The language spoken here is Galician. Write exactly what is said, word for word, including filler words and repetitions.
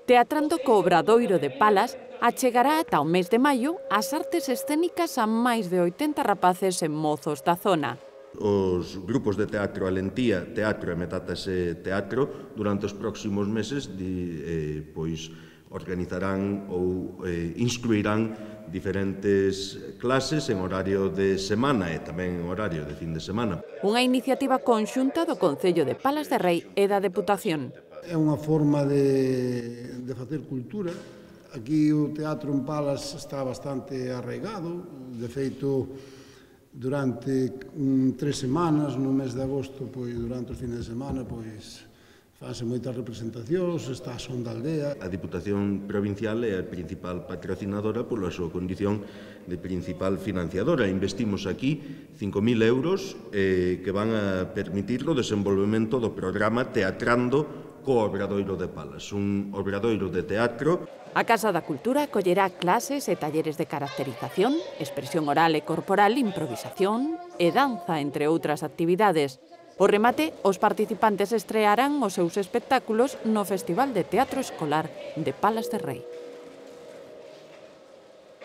Teatrando co Obradoiro de Palas, achegará ata o mes de maio as artes escénicas a máis de oitenta rapaces e mozos da zona. Os grupos de teatro Alentía, Teatro e Metástase Teatro durante os próximos meses di, eh, pois, organizarán ou eh, instruirán diferentes clases en horario de semana e tamén en horario de fin de semana. Unha iniciativa conxunta do Concello de Palas de Rei e da Deputación. É unha forma de, de facer cultura. Aquí o teatro en Palas está bastante arraigado. De feito, durante um, tres semanas, no mes de agosto, pois, durante os fines de semana, pois, fanse moitas representacións, está a Son da Aldea. A Diputación Provincial é a principal patrocinadora pola súa condición de principal financiadora. Investimos aquí cinco mil euros eh, que van a permitir o desenvolvemento do programa Teatrando co Obradoiro de Palas, un obradoiro de teatro. A Casa da Cultura acollerá clases e talleres de caracterización, expresión oral e corporal, improvisación e danza, entre outras actividades. O remate, os participantes estrearán os seus espectáculos no Festival de Teatro Escolar de Palas de Rei.